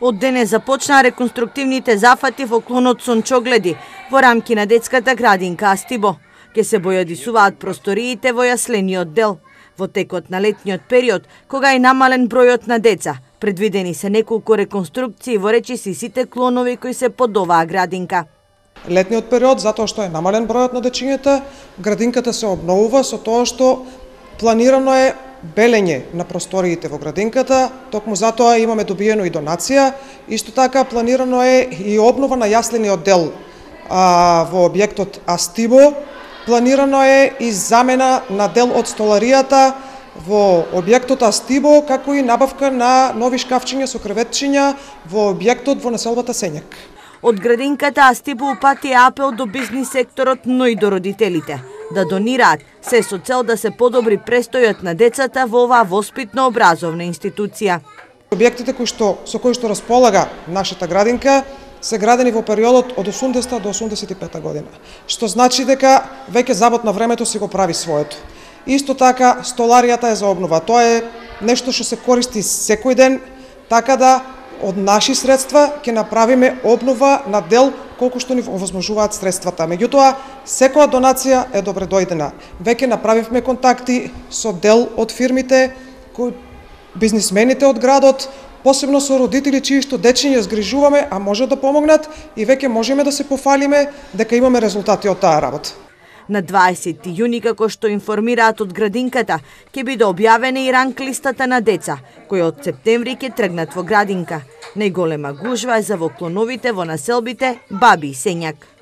Од денес започнаа реконструктивните зафати во клонот Сончогледи во рамки на детската градинка Астибо. Ке се бојадисуваат просториите во јаслениот дел. Во текот на летниот период, кога е намален бројот на деца, предвидени се неколку реконструкции во речиси сите клонови кои се под оваа градинка. Летниот период, затоа што е намален бројот на дечињата, градинката се обновува со тоа што планирано е белење на просториите во градинката, токму затоа имаме добиено и донација. Исто така планирано е и обнова на јаслениот дел во објектот Астибо. Планирано е и замена на дел од столаријата во објектот Астибо, како и набавка на нови шкафчиња со креветчиња во објектот во населбата Сењак. Од градинката Астибо упати апел до бизнис секторот, но и до родителите да донираат, се со цел да се подобри престојот на децата во оваа воспитно-образовна институција. Објектите со кои што располага нашата градинка се градени во периодот од 80 до 85 година, што значи дека веќе забот на времето си го прави своето. Исто така столаријата е за обнова. Тоа е нешто што се користи секој ден, така да од наши средства ќе направиме обнова на дел колку што ни овозможуваат средствата. Меѓутоа, секоја донација е добре дојдена. Веќе направивме контакти со дел од фирмите, бизнисмените од градот, посебно со родители чии што дечиња згрижуваме, а може да помогнат и веќе можеме да се пофалиме дека имаме резултати од таа работа. На 20 јуни, како што информираат од градинката, ќе биде објавена и ранг листата на деца, кои од септември ќе тргнат во градинка. Најголема гужва е за во клоновите во населбите Баби и Сењак.